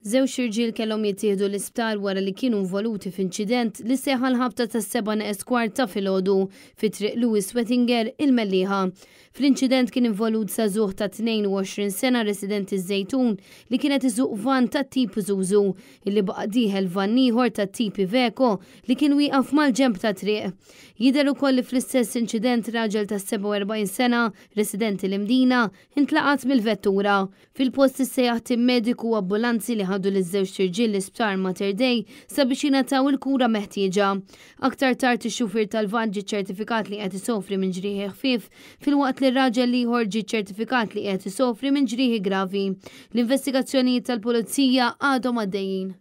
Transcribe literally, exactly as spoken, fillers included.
Żewġ irġiel kellhom jittieħdu l-isptar wara li kienu involuti f'inċident li seħħ għall-ħabta tas-sebgħa neqes kwart ta' filgħodu fi Triq Louis Wettinger, il-Mellieħa. Fl-inċident kien involut żagħżugħ ta' tnejn u għoxrin sena residenti Żejtun li kien qed isuq van tat-tip Isuzu illi baqa' dieħel van ieħor tat-tip Iveco li kien wieqaf mal-ġenb tat-triq. Jidher ukoll li fl-istess inċident raġel ta' sebgħa u erbgħin sena residenti l-Imdina intlaqat mill-vettura. Fil-post issejjaħ tim mediku u ambulanzi li ħadu liż-żewġ irġiel l-isptar Mater Dei sabiex jingħataw il-kura meħtieġa. Aktar tard ix-xufier tal-van ġie ċertifikat li qed isofri minn ġrieħi ħfief, filwaqt li r-raġel l-ieħor ġie ċertifikat li qed isofri minn ġrieħi gravi. L-investigazzjonijiet tal-pulizija għadhom għaddejjin.